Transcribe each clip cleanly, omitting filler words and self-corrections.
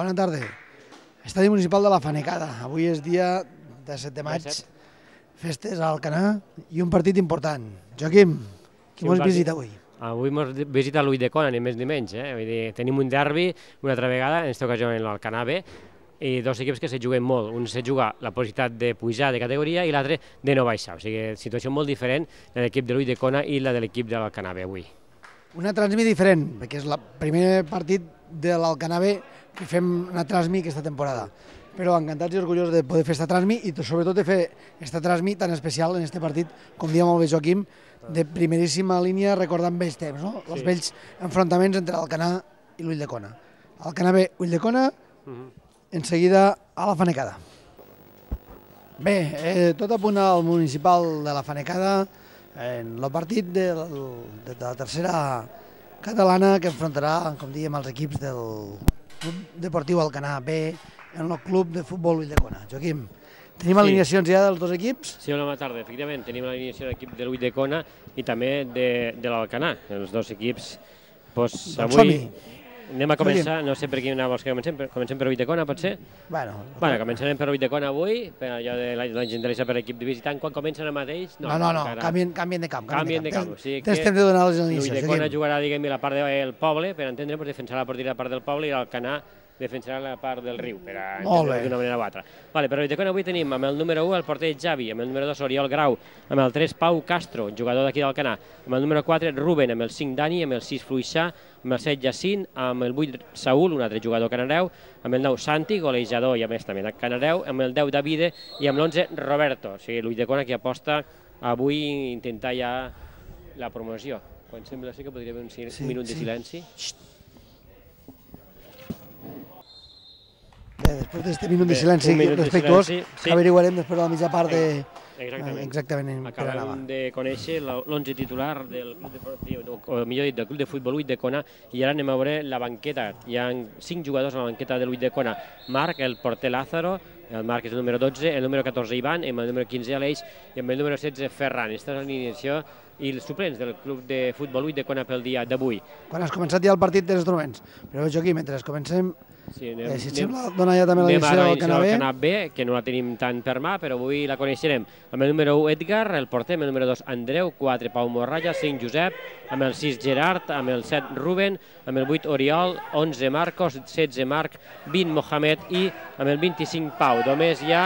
Bona tarda. Estadi Municipal de la Fanecada. Avui és dia de 7 de maig, festes a Alcanar i un partit important. Joaquim, qui mos visita avui? Avui mos visita l'Ulldecona, ni més ni menys. Vull dir, tenim un derbi una altra vegada, en aquesta ocasió en l'Alcanar B, i dos equips que se juguen molt. Un se juga la possibilitat de pujar de categoria i l'altre de no baixar. O sigui, situació molt diferent de l'equip de l'Ulldecona i la de l'equip de l'Alcanar B avui. Una transmi diferent, perquè és el primer partit de l'Alcanar B que fem una transmi aquesta temporada. Però encantats i orgullosos de poder fer aquesta transmi i sobretot de fer aquesta transmi tan especial en aquest partit, com dia molt bé Joaquim, de primeríssima línia recordant vells temps, no? Els vells enfrontaments entre l'Alcanar i l'Ulldecona. Alcanar B, Ulldecona, en seguida a la Fanecada. Bé, tot apunta al municipal de la Fanecada en el partit de la tercera catalana que enfrontarà, com dèiem, els equips del Club Deportiu Alcanar B en el Club de Futbol Ulldecona. Joaquim, tenim alineacions ja dels dos equips? Sí, bona tarda. Efectivament, tenim l'alineació de l'equip de l'Ulldecona i també de l'Alcanar. Els dos equips, avui anem a començar, no sé per quina vols que comencem per l'Ulldecona, pot ser? Bueno, començarem per l'Ulldecona avui, per allò de la gentilesa per l'equip de visitant. Quan comencen el mateix? No, canvien de camp. Canvien de camp. Tens temps de donar les alineacions. L'Ulldecona jugarà, diguem, la part del poble, per entendre, defensarà la porteria a la part del poble i l'Alcanar defensarà la part del riu, per entendre d'una manera o altra. Per l'Ulldecona avui tenim amb el número 1 el porter Javi, amb el número 2 Oriol Grau, amb el 3 Pau Castro, jugador d'aquí d'Alcanar, amb el número 4 Ruben, amb el 5 Dani, amb el 6 Fluixà, amb el 7 Jacint, amb el 8 Saúl, un altre jugador canareu, amb el 9 Santi, golejador i a més també canareu, amb el 10 Davide i amb l'11 Roberto. O sigui, l'Ulldecona que aposta avui intentar ja la promoció. Quan sembla que podria haver un minut de silenci. Bé, després d'aquest minut de silenci respectuós, averiguarem després de la mitja part de... Exactament. Acabem de conèixer l'11 titular del Club Deportiu, o millor dit, del Club de Futbol Ulldecona, i ara anem a veure la banqueta. Hi ha 5 jugadors a la banqueta de l'Ulldecona. Marc, el porter Lázaro, el Marc és el número 12, el número 14 Ivan, amb el número 15 Aleix i amb el número 16 Ferran. Aquesta és l'alineació i els suplents del Club de Futbol Ulldecona pel dia d'avui. Quan has començat ja el partit tens instruments, però Joaquim, mentre comencem, si et sembla, dona ja també l'alineació del Alcanar B, que no la tenim tant per mà, però avui la coneixerem. Amb el número 1 Edgar, el porter, amb el número 2 Andreu, 4 Pau Morralla, 5 Josep, amb el 6 Gerard, amb el 7 Ruben, amb el 8 Oriol, 11 Marcos, 16 Marc, 20 Mohamed i amb el 25 Pau. Només hi ha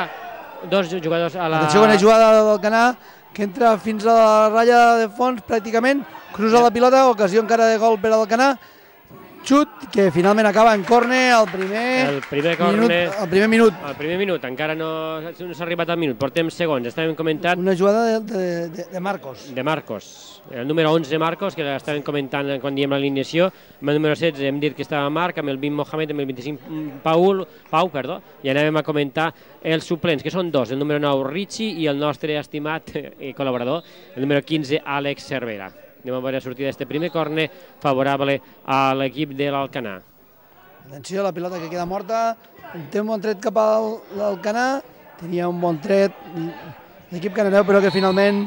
dos jugadors a la... Atenció, bona jugada del Alcanar, que entra fins a la ratlla de fons pràcticament, cruza la pilota, ocasió encara de gol per al Alcanar, xut que finalment acaba en córner al primer minut. Al primer minut, encara no s'ha arribat al minut, portem segons, estàvem comentant... Una jugada de Marcos. De Marcos, el número 11 Marcos, que l'estàvem comentant quan diem l'alineació, amb el número 16 hem dit que estava Marc, amb el 20 Mohamed, amb el 25 Pau, i anàvem a comentar els suplents, que són dos, el número 9 Richie i el nostre estimat i col·laborador, el número 15 Àlex Cervera. Anem a veure la sortida d'aquest primer córner favorable a l'equip de l'Alcanar. Atenció, la pilota que queda morta, té un bon tret cap a l'Alcanar, tenia un bon tret l'equip canareu, però que finalment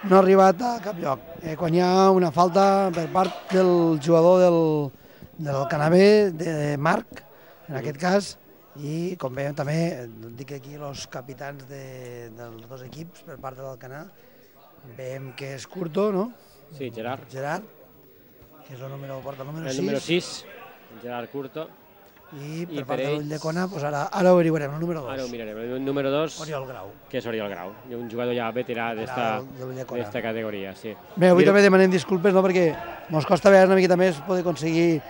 no ha arribat a cap lloc. Quan hi ha una falta per part del jugador de l'Alcanar B, de Marc, en aquest cas, i com veiem també, dic aquí els capitans dels dos equips per part de l'Alcanar, veiem que és Curto, no? Sí, Gerard. Gerard, que és el número 6. El número 6, Gerard Curto. I per part de l'Ulldecona, ara ho averiguarem, el número 2. Ara ho mirarem, el número 2, Oriol Grau. Que és Oriol Grau, un jugador ja veterà d'esta categoria, sí. Bé, avui també demanem disculpes, perquè ens costa veure una miqueta més poder aconseguir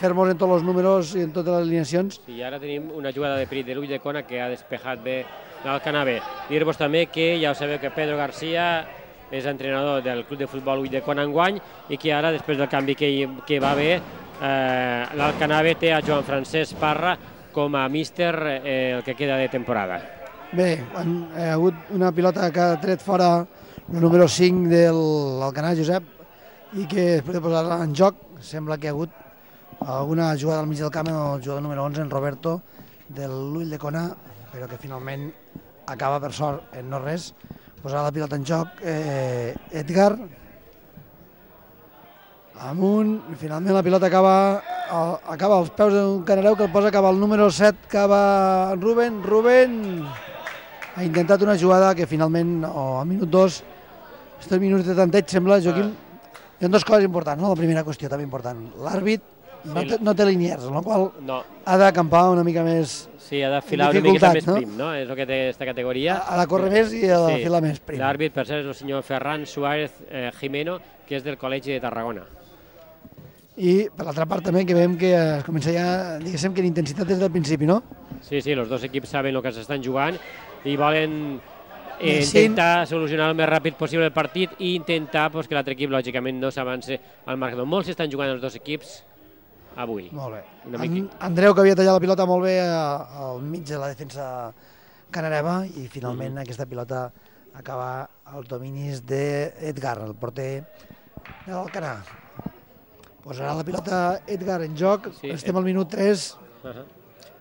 fer-nos en tots els números i en totes les alineacions. I ara tenim una jugada de perit de l'Ulldecona que ha despejat bé l'Alcanar B. Dir-vos també que ja ho sabeu que Pedro García és entrenador del Club de Futbol Ulldecona enguany i que ara, després del canvi que va haver, l'Alcanar B té a Joan Francesc Parra com a míster el que queda de temporada. Bé, ha hagut una pilota que ha tret fora el número 5 de l'Alcanar, Josep, i que després de posar-la en joc sembla que ha hagut alguna jugada al mig del camp amb el jugador número 11, en Roberto, de l'Ulldecona, però que finalment acaba per sort en no res. Posar la pilota en joc Edgar amunt, finalment la pilota acaba acaba als peus d'un Canareu que el posa cap al número 7, acaba Rubén. Rubén ha intentat una jugada que finalment, al minut 2, estos minuts de tanteig, sembla, Joaquim, hi ha dues coses importants, no? La primera qüestió també important, l'àrbit no té liniers, amb la qual ha d'acampar una mica més. Sí, ha de filar una mica més prim, no? És el que té aquesta categoria. Ha de córrer més i ha de filar més prim. L'àrbit, per cert, és el senyor Ferran Suárez Jimeno, que és del Col·legi de Tarragona. I per l'altra part també que veiem que es comença ja, diguéssim, que l'intensitat des del principi, no? Sí, els dos equips saben el que s'estan jugant i volen intentar solucionar el més ràpid possible el partit i intentar que l'altre equip, lògicament, no s'avanci al marcador. Molts s'estan jugant els dos equips avui. Molt bé. Andreu, que havia tallat la pilota molt bé al mig de la defensa canareva, i finalment aquesta pilota acaba als dominis d'Edgar, el porter de l'Alcanar. Posarà la pilota Edgar en joc, estem al minut 3.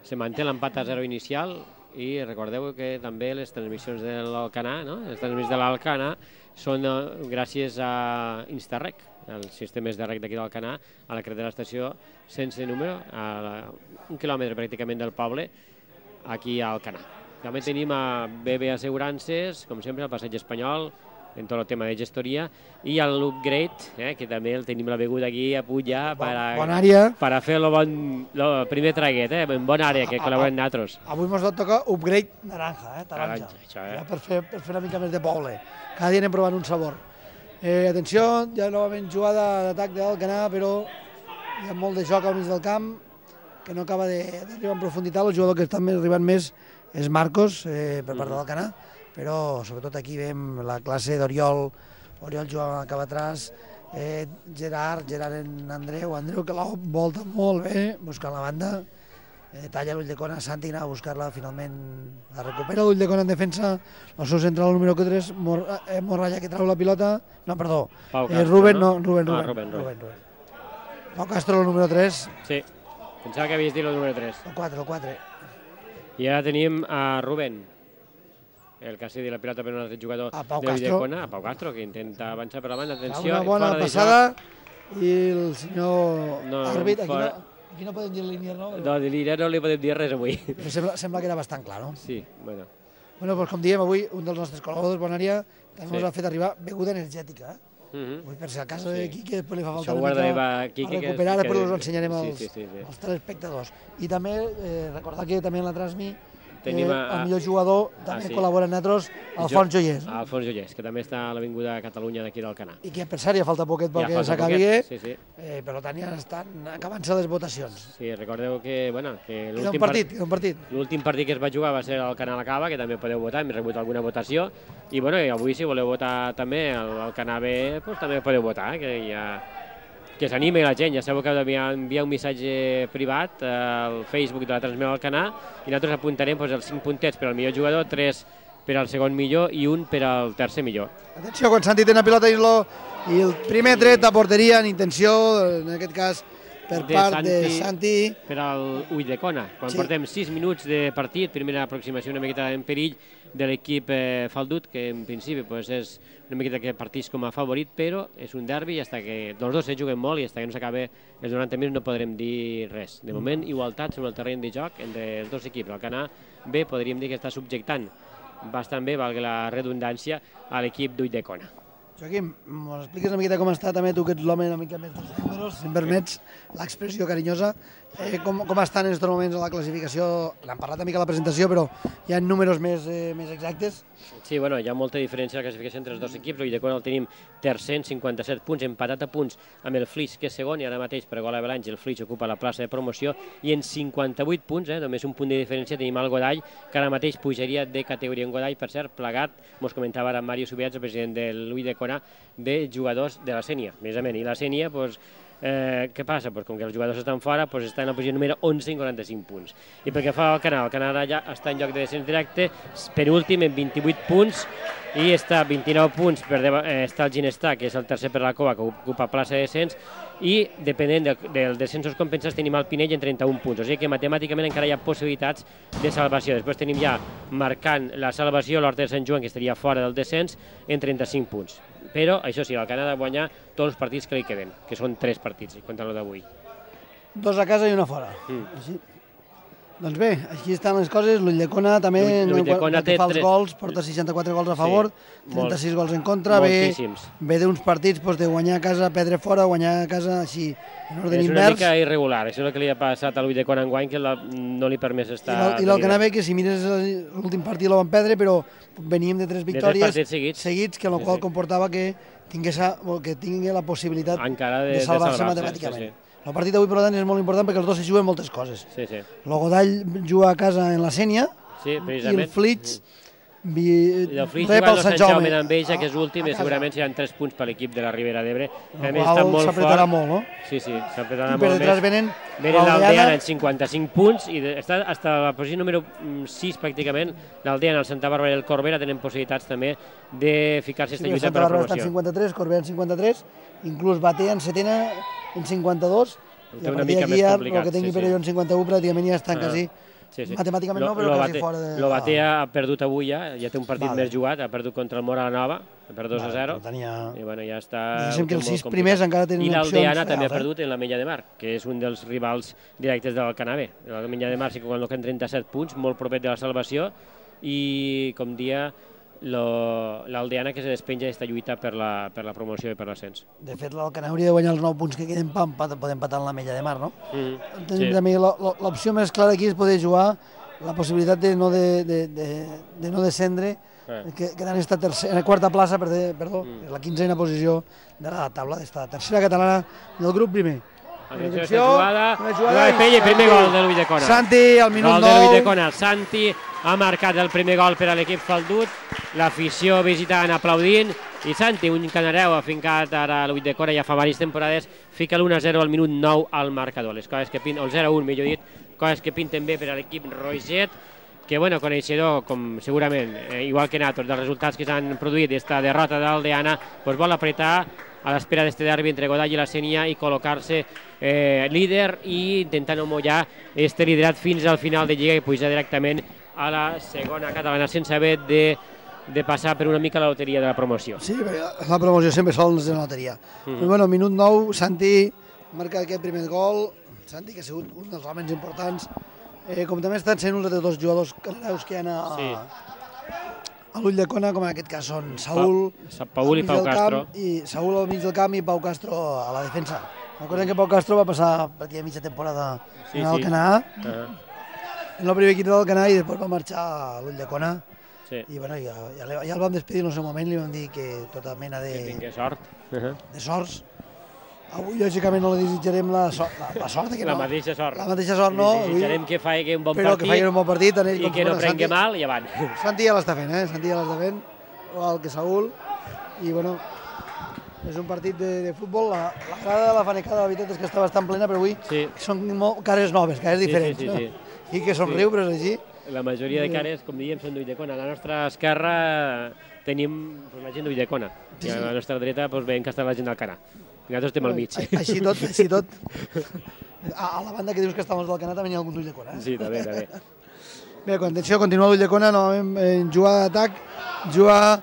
Se manté l'empat a 0 inicial i recordeu que també les transmissions de l'Alcanar, les transmissions de l'Alcanar són gràcies a Instarrec, els sistemes de rec d'aquí d'Alcanar, a la carretera de l'estació sense número, a 1 quilòmetre pràcticament del poble, aquí a Alcanar. També tenim a BB Assegurances, com sempre, al Passeig Espanyol, en tot el tema de gestoria, i l'Upgrade, que també el tenim la beguda aquí a pujar per a fer el primer traguet, en bona àrea, que col·laborem nosaltres. Avui ens va tocar Upgrade naranja, taronja, per fer una mica més de poble. Cada dia anem provant un sabor. Atenció, ja novament jugada d'atac de l'Alcanar, però hi ha molt de joc al mig del camp, que no acaba d'arribar en profunditat. El jugador que està arribant més és Marcos, per part de l'Alcanar, però sobretot aquí veiem la classe d'Oriol, Oriol jugava cap atrás, Gerard en Andreu que la volta molt bé, buscant la banda, talla l'Ulldecona, Santi anava a buscar-la, finalment la recupera l'Ulldecona en defensa, el seu central número 3, Morralla, que trau la pilota, no, perdó, Rubén. Pau Castro, el número 3. Sí, pensava que havies dit el número 3. El 4. I ara tenim a Rubén, el que ha cedit la pilota per un altre jugador de l'Ulldecona, a Pau Castro, que intenta avançar per la banda. Una bona passada i el senyor àrbit, aquí no podem dir línia, no? No, de línia no li podem dir res avui. Sembla que era bastant clar, no? Sí, bueno. Bueno, doncs com diem, avui un dels nostres col·laboradors, Bonària, també ens ha fet arribar beguda energètica. Avui, per si al cas d'aquí, que després li fa falta una mica a recuperar, després us ho ensenyarem als telespectadors. I també recordar que també en la transmi el millor jugador també col·labora amb nosaltres, Alfons Joiers. Alfons Joiers, que també està a l'Avinguda Catalunya d'aquí d'Alcanar. I que per cert ja falta poquet perquè s'acabi, per tant ja estan acabant-se les votacions. Sí, recordeu que l'últim partit que es va jugar va ser al Canal Acaba, que també podeu votar, hem rebut alguna votació, i avui si voleu votar també al Canal B, també podeu votar, que s'animi la gent. Ja sabeu que heu d'enviar un missatge privat al Facebook de la transmissió del Canà i nosaltres apuntarem els 5 puntets per al millor jugador, 3 per al segon millor i 1 per al tercer millor. Atenció, quan Santi té una pilota i el primer tret a porteria en intenció, en aquest cas per part de Santi. Per al Ulldecona, quan portem 6 minuts de partit, primera aproximació una miqueta en perill de l'equip Faldut, que en principi és una miqueta que partís com a favorit, però és un derbi i fins que els dos se juguen molt i fins que no s'acabi els 90 minuts no podrem dir res. De moment, igualtat sobre el terreny de joc entre els dos equips. El Canà B podríem dir que està subjectant bastant bé, valgui la redundància, a l'equip d'Ulldecona. Joaquim, ens expliques una miqueta com està també tu, que ets l'home una mica més dels números, si em permets l'expressió carinyosa. Com estan en aquests moments a la classificació? N'hem parlat una mica a la presentació, però hi ha números més exactes? Sí, hi ha molta diferència a la classificació entre els dos equips. L'Ulldecona el tenim tercer, 57 punts, empatat a punts amb el Flix, que és segon, i ara mateix per gol avalanche el Flix ocupa la plaça de promoció, i en 58 punts, només un punt de diferència, tenim el Godall, que ara mateix pujaria de categoria en Godall, per cert, plegat, mos comentava ara Mario Subirats, el president de l'Ulldecona, de jugadors de la Sénia, precisament. I la Sénia, què passa? Com que els jugadors estan fora, està en la posició número 11 en 45 punts. I pel que fa al Canà, el Canà ja està en lloc de descens directe, per últim en 28 punts, i està 29 punts, està el Ginestar, que és el tercer per la Cova, que ocupa plaça de descens, i depenent dels descensos compensats tenim el Pinell en 31 punts, o sigui que matemàticament encara hi ha possibilitats de salvació. Després tenim ja marcant la salvació l'Horta de Sant Joan, que estaria fora del descens, en 35 punts. Però, això sí, el Canà ha de guanyar tots els partits que li queden, que són 3 partits, contra el d'avui. 2 a casa i una fora. Així. Doncs bé, aquí estan les coses. L'Ulldecona també, pel que fa als gols, porta 64 gols a favor, 36 gols en contra. Ve d'uns partits de guanyar a casa, perdre fora, guanyar a casa, així, en ordre invers. És una mica irregular, això és el que li ha passat a l'Ulldecona enguany, que no li ha permès estar... I l'Alcanar ve que si mires l'últim partit el van perdre, però veníem de 3 victòries seguits, que el qual comportava que tingui la possibilitat de salvar-se matemàticament. El partit d'avui, per tant, és molt important perquè els dos s'hi juguen moltes coses. El Godall juga a casa en la Sénia i el Flix rep el Sant Jaume d'Enveja, que és últim, i segurament seran 3 punts per l'equip de la Ribera d'Ebre. El qual s'apretarà molt, no? Sí, s'apretarà molt més. I per detrás venen l'Aldeana en 55 punts i està fins a la posició número 6 pràcticament. L'Aldeana, el Santa Bàrbara i el Corbera tenen possibilitats també de ficar-se en lluita per la promoció. Santa Bàrbara està en 53, Corbera en 53, inclús Batea en setena en 52, i a partir d'aquí el que tingui Perelló en 51 pràcticament ja estan quasi, matemàticament no, però quasi fora de... El Batea ha perdut avui ja té un partit més jugat, ha perdut contra el Mora la Nova, per 2-0, i bueno, ja està... Diguéssim que els 6 primers encara tenen opcions. I l'Aldeana també ha perdut en la Mella de Mar, que és un dels rivals directes del Canavè. La Mella de Mar sí que col·loca en 37 punts, molt propet de la salvació, i com dia l'Aldeana que se despenja d'aquesta lluita per la promoció i per l'ascens. De fet, l'Alcanar hauria de guanyar els 9 punts que queden per poder empatar en la Mella de Mar, no? També l'opció més clara aquí és poder jugar la possibilitat de no descendre, que han estat en la quarta plaça, perdó, la 15a posició de la taula d'esta tercera catalana del grup primer. Jugada de Pell, primer gol de l'Ulldecona. Santi, al minut 9. Gol de l'Ulldecona. Santi ha marcat el primer gol per a l'equip faldut. L'afició visitant aplaudint. I Santi, un canareu afincat ara a l'Ulldecona ja fa diverses temporades, fica l'1-0 al minut 9 al marcador. Les coses que pinten, o el 0-1 millor dit, coses que pinten bé per a l'equip Roget, que bueno, coneixedor, com segurament, igual que nosaltres, dels resultats que s'han produït d'esta derrota d'Aldeana, vol apretar a l'espera d'este derbi entre Godall i la Sénia i col·locar-se líder i intentar no mullar este liderat fins al final de Lliga i pujar directament a la segona catalana sense haver de passar per una mica la loteria de la promoció. Sí, la promoció sempre sols de la loteria. Bueno, minut 9, Santi marca aquest primer gol, Santi que ha sigut un dels homes importants, com també estan sent uns altres dos jugadors canareus que hi ha a l'Ulldecona, com en aquest cas són Saúl i Pau Castro. Saúl al mig del camp i Pau Castro a la defensa. Recordem que Pau Castro va passar pràcticament mitja temporada en l'Alcanar, en el primer equip de l'Alcanar, i després va marxar a l'Ulldecona. I bueno, ja el vam despedir en el seu moment, li vam dir que tota mena de... Que tingués sort. De sorts. Avui, lògicament, no li desitjarem la sort, la mateixa sort. La mateixa sort, no. Li desitjarem que faci un bon partit. Però que faci un bon partit. I que no prengui mal i avant. Santi ja l'està fent, Santi ja l'està fent, igual que Saúl. I bueno, és un partit de futbol. La grada de la Fanecada, la veritat és que està bastant plena, però avui són cares noves, cares diferents. I que somriu, però és així. La majoria de cares, com diem, són d'Ulldecona. A la nostra esquerra tenim la gent d'Ulldecona. I a la nostra dreta veiem que està la gent d'Alcanar. I nosaltres estem al mig. Així tot. A la banda que dius que estàvem del Canà també hi ha algun d'Ulldecona. Sí, també. Bé, atenció, continua l'Ulldecona, novament en jugada d'atac, juga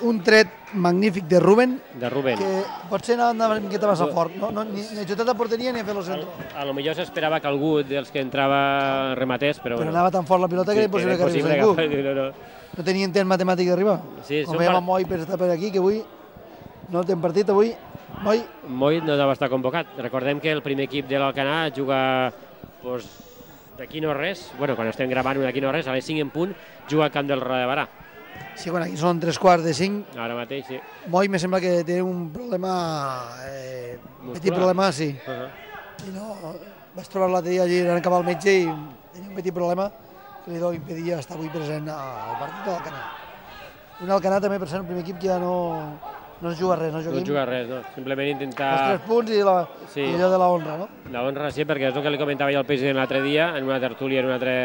un tret magnífic de Rubén, que potser anava una miqueta massa fort, ni ajutat a porteria ni a fer el centre. A lo millor s'esperava que algú dels que entrava rematés, però... Però anava tan fort la pilota que era impossible que arribés ningú. No tenia intent matemàtic d'arribar. Com veiem a Moi per estar per aquí, que avui no té partit, avui Moi no va estar convocat. Recordem que el primer equip de l'Alcanar juga d'aquí no res, quan estem gravant d'aquí no res, a les 5 en punt, juga al camp del Roda de Barà. Sí, aquí són 3:45. Ara mateix, sí. Moi me sembla que té un problema, petit problema, sí. I no, vaig trobar l'altre dia allí, anant cap al metge i tenia un petit problema que li impedia estar avui present al partit de l'Alcanar. Un Alcanar també, per ser el primer equip que ja no es juga res, no, Joaquim? No es juga res, no. Simplement intentar... Els 3 punts i allò de la honra, no? La honra, sí, perquè és el que li comentava jo al president l'altre dia, en una tertúlia, en un altre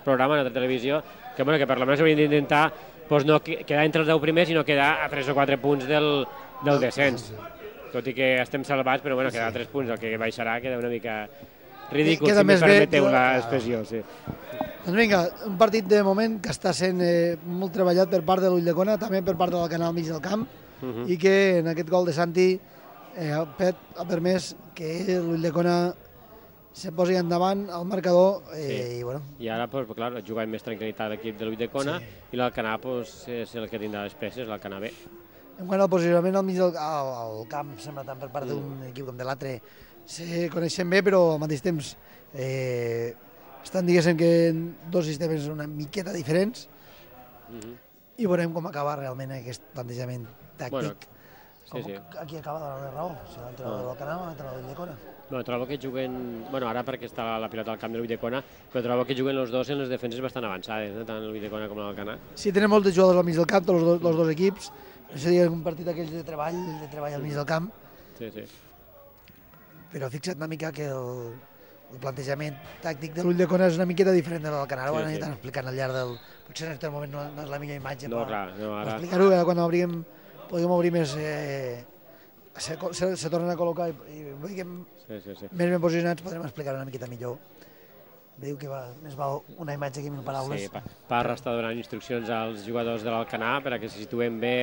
programa, en una altra televisió, que per la menys hauríem d'intentar no quedar entre els 10 primers i no quedar a 3 o 4 punts del descens. Tot i que estem salvats, però quedar a 3 punts, el que baixarà queda una mica ridícul, si me permeteu l'expressió. Doncs vinga, un partit de moment que està sent molt treballat per part de l'Ulldecona, també per part del Canal mig del camp, i que en aquest gol de Santi Pet ha permès que l'Ulldecona se posi endavant al marcador i bueno... I ara, clar, juga amb més tranquil·litat l'equip de l'Ulldecona i l'Alcanar és el que tindrà les peces, l'Alcanar B. En quant al posicionament al mig del camp, sembla tant per part d'un equip com de l'altre, se coneixen bé, però al mateix temps estan, diguéssim, que dos sistemes una miqueta diferents i veurem com acaba realment aquest plantejament tàctic. Aquí acaba de la raó, si l'entrenador de l'Alcanar o l'entrenador de l'Ulldecona. Trobo que juguen... Ara perquè està la pilota al camp de l'Ulldecona, però trobo que juguen els dos en les defenses bastant avançades, tant l'Ulldecona com l'Alcanar. Sí, tenen molts jugadors al mig del camp, els dos equips. Seria un partit d'aquells de treball al mig del camp. Sí. Però fixa't una mica que el plantejament tàctic de l'Ulldecona és una miqueta diferent de l'Alcanar. Ho han anat explicant al llarg del... Potser en aquest moment no és la millor imatge per explicar-ho. Quan podríem obrir més... se tornen a col·locar i veiem més ben posicionats, podrem explicar una miqueta millor. Diu que més val una imatge que 1000 paraules. Sí, Parra està donant instruccions als jugadors de l'Alcanar perquè se situem bé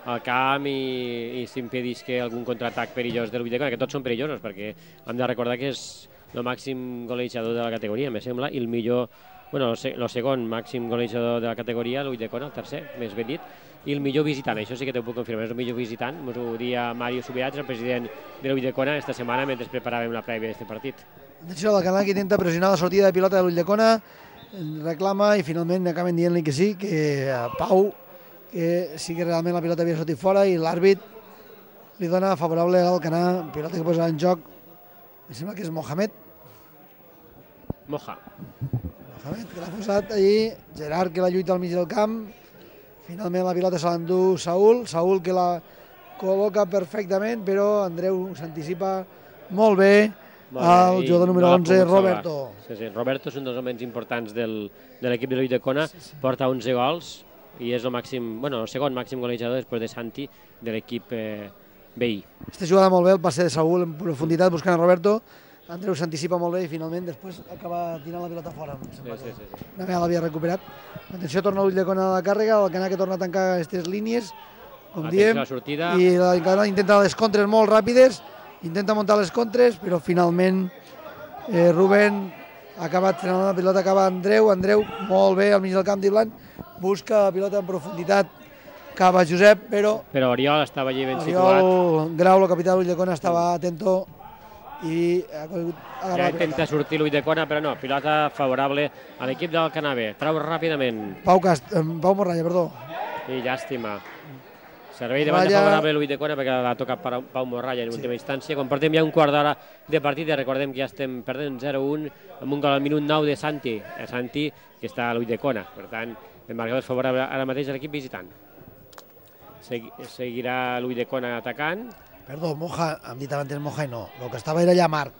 al camp i s'impedís que algun contraatac perillós de l'Ulldecona, que tots són perillosos, perquè hem de recordar que és el màxim golejador de la categoria, me sembla, i el millor, el segon màxim golejador de la categoria, l'Ulldecona, el tercer, més ben dit, i el millor visitant, això sí que t'ho puc confirmar, és el millor visitant, ens ho dia Mario Subirats, el president de l'Ulldecona, esta setmana mentre preparàvem la prèvia d'aquest partit. Atenció, l'Alcanar que intenta pressionar la sortida de pilota de l'Ulldecona, reclama i finalment acaben dient-li que sí, que Pau, que sí que realment la pilota havia sortit fora i l'àrbit li dona favorable a l'Alcanar, pilota que posa en joc, em sembla que és Mohamed, que l'ha posat allí, Gerard que la lluita al mig del camp, finalment la pilota se l'endú Saúl que la col·loca perfectament, però Andreu s'anticipa molt bé al jugador número 11, Roberto. Roberto és un dels homes importants de l'equip de l'Ulldecona, porta 11 gols i és el segon màxim golejador després de Santi de l'equip veí. Aquesta jugada molt bé, el passe de Saúl en profunditat buscant a Roberto, Andreu s'anticipa molt bé i finalment després acaba tirant la pilota fora. Una vegada l'havia recuperat. Atenció, torna l'Ulldecona a la càrrega, l'Alcanar que torna a tancar aquestes línies, com diem, i l'Alcanar intenta les contres molt ràpides, intenta muntar les contres, però finalment Rubén ha acabat frenant la pilota, acaba Andreu molt bé al mig del camp d'Irland, busca la pilota en profunditat, acaba Josep, però Oriol estava allí ben situat. Oriol Grau, el capità de l'Ulldecona, estava atento i ja intenta sortir l'Ulldecona, però no, pilota favorable a l'equip del l'Alcanar B. Trau ràpidament. Pau Morralla, perdó. I llàstima. Servei de banda favorable a l'Ulldecona perquè l'ha tocat Pau Morralla en última instància. Quan portem ja un quart d'hora de partida, recordem que ja estem perdent 0-1 amb un gol al minut 9 de Santi. Santi, que està a l'Ulldecona. Per tant, el marcador és favorable ara mateix a l'equip visitant. Seguirà l'Ulldecona atacant. Perdó, Moja, hem dit abans Moja i no. El que estava era allà Marc.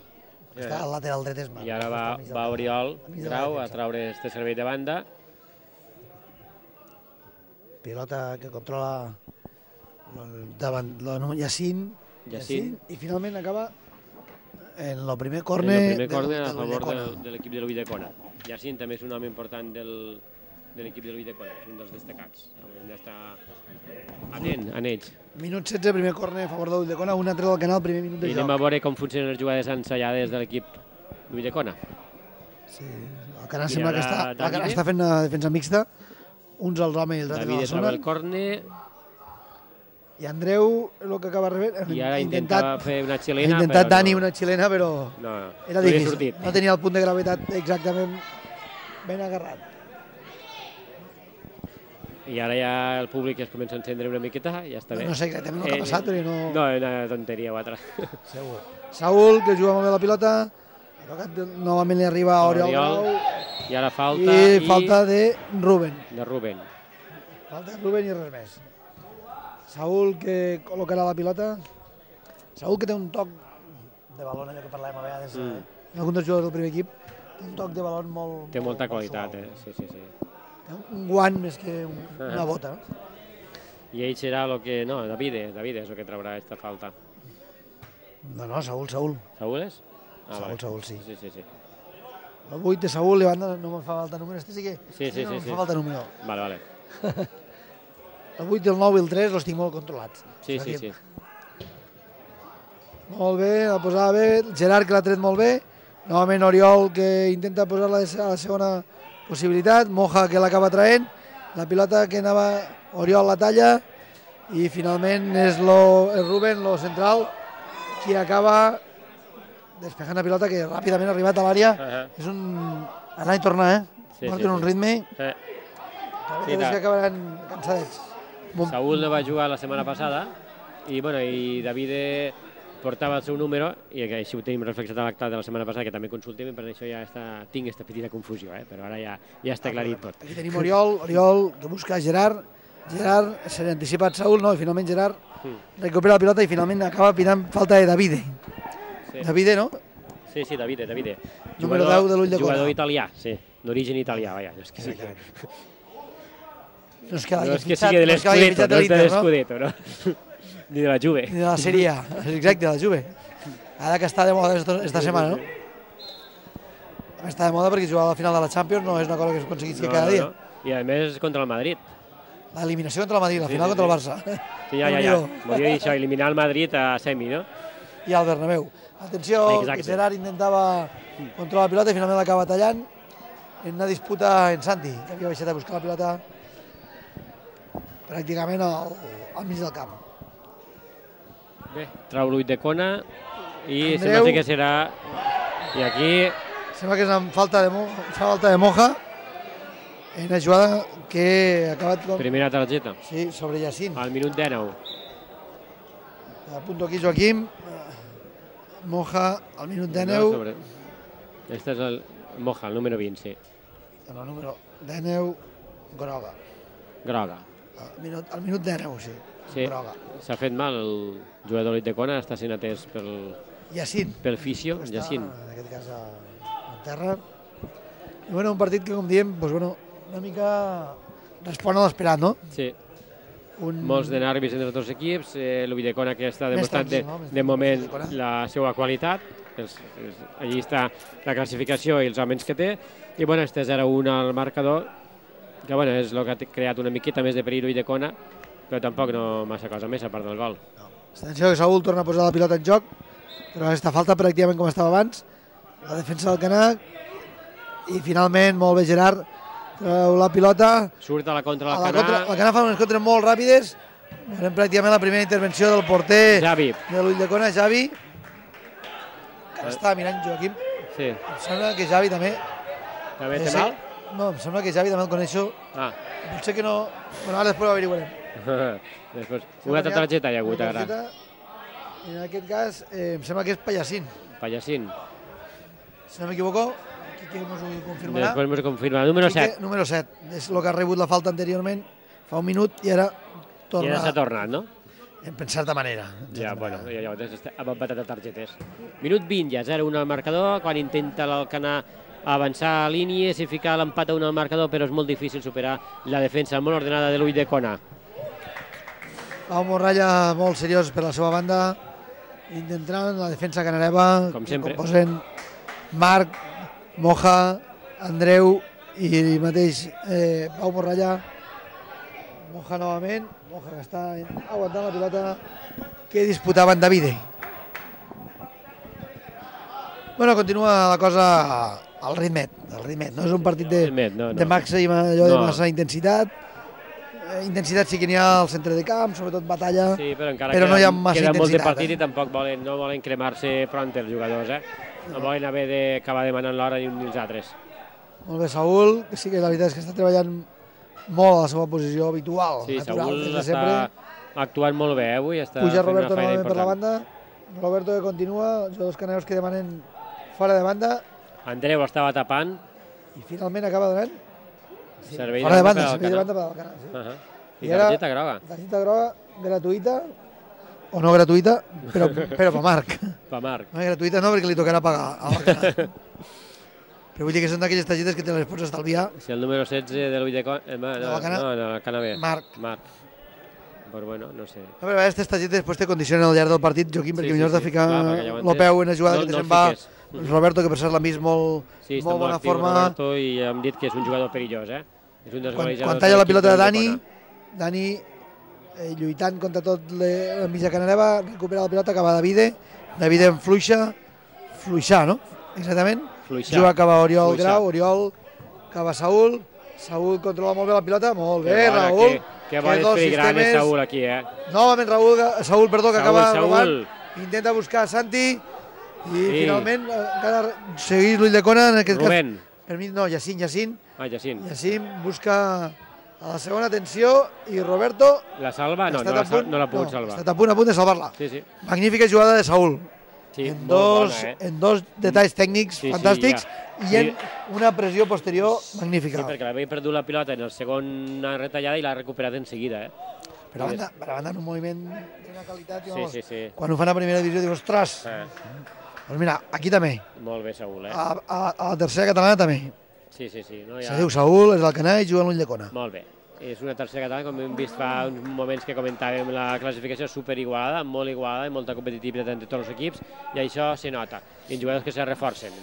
Està al lateral dret és Marc. I ara va Oriol Grau a traure este servei de banda. Pilota que controla davant Yacine. I finalment acaba en el primer córner a favor de l'equip de l'Ulldecona. Yacine també és un home important de l'equip de l'Ulldecona, és un dels destacats. Hem d'estar atent en ells. Minut 16, primer córner a favor de l'Ulldecona, un altre del canal, primer minut de joc. I anem a veure com funcionen les jugades ensaiades de l'equip d'Ulldecona. Sí, el canal sembla que està fent una defensa mixta, uns als homes i els altres a la zona. David el córner. I Andreu, el que acaba rebent, i ara intentava fer una xilena. Ha intentat Dani una xilena, però era difícil. No tenia el punt de gravetat exactament ben agarrat. I ara ja el públic es comença a encendre una miqueta, ja està bé. No sé exactament el que ha passat, però no... No, una tonteria o altra. Segur. Saúl, que juga molt bé la pilota, ha tocat novament li arriba a Oriol Grau. I ara falta... I falta de Rubén. Falta de Rubén i res més. Saúl, que col·locarà la pilota. Saúl, que té un toc de balón, allò que parlàvem a vegades, algun dels jugadors del primer equip, té un toc de balón molt... Té molta qualitat, sí. Un guant més que una bota. I ell serà el que... No, David és el que traurà aquesta falta. No, Saúl. Saúl és? Saúl, sí. Sí. El 8 de Saúl, i banda no me'n fa falta número. Este sí que no me'n fa falta número. Vale. El 8, el 9 i el 3 els tinc molt controlats. Sí. Molt bé, la posava bé. Gerard, que l'ha tret molt bé. Novament Oriol, que intenta posar-la a la segona possibilitat. Moja, que l'acaba traient. La pilota que anava... Oriol la talla. I finalment és el Rubén, el central, qui acaba despejant la pilota, que ràpidament ha arribat a l'àrea. És un anar i tornar, en un ritme. Sí, que acabaran cansadets. Saúl no va jugar la setmana passada i Davide portava el seu número i així ho tenim reflexat a l'acte de la setmana passada, que també consultem, i per això ja tinc aquesta petita confusió, però ara ja està aclarit tot. Aquí tenim Oriol, que busca Gerard s'ha anticipat Saúl, no, i finalment Gerard recupera la pilota i finalment acaba pinant falta de Davide. Davide, no? Sí, Davide. Número 10 de l'Ull de Cona. Jugador italià, sí, d'origen italià, vaja. No és que sigui de l'Scudetto, no? Ni de la Juve. Ni de la Serie A, exacte, de la Juve. Ara que està de moda esta setmana, no? Està de moda perquè jugar a la final de la Champions no és una cosa que es aconseguissi cada dia. I a més contra el Madrid. L'eliminació contra el Madrid, la final contra el Barça. Sí, ja. Volia dir això, eliminar el Madrid a semi, no? I al Bernabéu. Atenció, que Gerard intentava controlar la pilota i finalment l'acaba tallant en una disputa en Santi, que havia baixat a buscar la pilota pràcticament al mig del camp. Bé, trau l'Ull de Cona i sembla que serà... I aquí... Sembla que és amb falta de Moja en una jugada que ha acabat... Primera targeta. Sí, sobre Yacine. Al minut 19. Apunto aquí Joaquim. Moja al minut 19. Este és el Moja, el número 20, sí. El número 19, groga. Groga. Al minut 19, sí. Sí, s'ha fet mal el jugador de Cona, està sent atès pel Yacine. Pel fisio, Yacine. En aquest cas a terra. I un partit que, com diem, una mica respon a l'esperat, no? Sí. Molts de nervis entre els dos equips, l'Ull de Cona que està demostrant de moment la seva qualitat, allí està la classificació i els homes que té, i este 0-1 al marcador, que és el que ha creat una miqueta més de perill l'Ull de Cona, però tampoc no massa cosa més a part del gol. Atenció que Saúl torna a posar la pilota en joc, però aquesta falta pràcticament com estava abans, la defensa del Canac, i finalment molt bé Gerard, treu la pilota. Surt a la contra del Canac. El Canac fa unes contres molt ràpides, veurem pràcticament la primera intervenció del porter de l'Ull de Cona, Xavi, que està mirant Joaquim. Sí. Em sembla que Xavi també... També té mal? No, em sembla que Xavi també el coneixo. Potser que no... Bueno, ara després ho averiguarem. Una altra targeta hi ha hagut ara. En aquest cas, em sembla que és Pallacín. Pallacín. Si no m'equivoco, aquí ens ho confirmarà. Després ens ho confirmarà. Número 7. Número 7. És el que ha rebut la falta anteriorment, fa un minut, i ara torna... I ara s'ha tornat, no? En certa manera. Ja, bueno, ja ha empatat de targetes. Minut 20, ja 0-1 al marcador, quan intenta l'Alcanar avançar a línies i ficar l'empat a 1 al marcador, però és molt difícil superar la defensa molt ordenada de l'Ull de Cona. Pau Morralla molt seriós per la seva banda, intentant la defensa canareva, com sempre. Composen Marc, Moja, Andreu i mateix Pau Morralla. Moja novament, Moja que està aguantant la pilota que disputaven Davide. Bueno, continua la cosa al ritmet, no és un partit de massa intensitat. Intensitat sí que n'hi ha al centre de camp, sobretot batalla, però no hi ha massa intensitat. Queda molt de partit i tampoc no volen cremar-se pront els jugadors, no volen haver d'acabar demanant l'hora ni els altres. Molt bé, Saúl, que sí que la veritat és que està treballant molt a la seva posició habitual. Sí, Saúl està actuant molt bé avui, està fent una feina important. Per la banda, Roberto que continua, els jugadors cananeus que demanen fora de banda. Andreu estava tapant. I finalment acaba donant fora de banda per al Canal. I targeta groga. Targeta groga gratuïta, o no gratuïta, però per Marc. Per Marc. No, gratuïta no, perquè li tocarà pagar al Canal. Però vull dir que són d'aquelles targetes que te les pots estalviar. Si el número 16 de l'Ull de Cona... No, el Canabé. Marc. Però bueno, no sé. No, però aquestes targetes després te condicionen al llarg del partit, Joaquim, perquè millor has de ficar el peu en una jugada que se'n va. Roberto, que per cert l'ha vist molt bona forma. Roberto, i hem dit que és un jugador perillós, És un dels golejadors. Quan talla la pilota de Dani lluitant contra tot la mitja canareva, recupera la pilota, acaba Davide en fluixar, no? Exactament. Juga, acaba Oriol Grau, Oriol, acaba Saúl controla molt bé la pilota, molt bé, Raül. Que bon filigrana és Saúl aquí, Novament Saúl, que acaba robant, intenta buscar Santi i finalment encara segueix l'Ulldecona, en aquest Rubén. Per mi, no, Jacint. Jacint Busca a la segona atenció i Roberto... La salva? No l'ha pogut salvar. Ha estat a punt de salvar-la. Magnífica jugada de Saúl. En dos detalls tècnics fantàstics i en una pressió posterior magnífica. Sí, perquè l'havia perdut la pilota en la segona retallada i l'ha recuperat en seguida. Per a banda, en un moviment d'una qualitat... Quan ho fan a primera divisió, dius, ostres! Doncs mira, aquí també. Molt bé, Saúl. A la tercera catalana també. Sí. Se diu Saúl, és l'Alcanar i juga a l'Ulldecona. Molt bé. És una tercera catalana, com hem vist fa uns moments que comentàvem, la classificació superigualada, molt igualada, i molta competitivitat entre tots els equips, i això se nota. I en jugadors que se reforcen.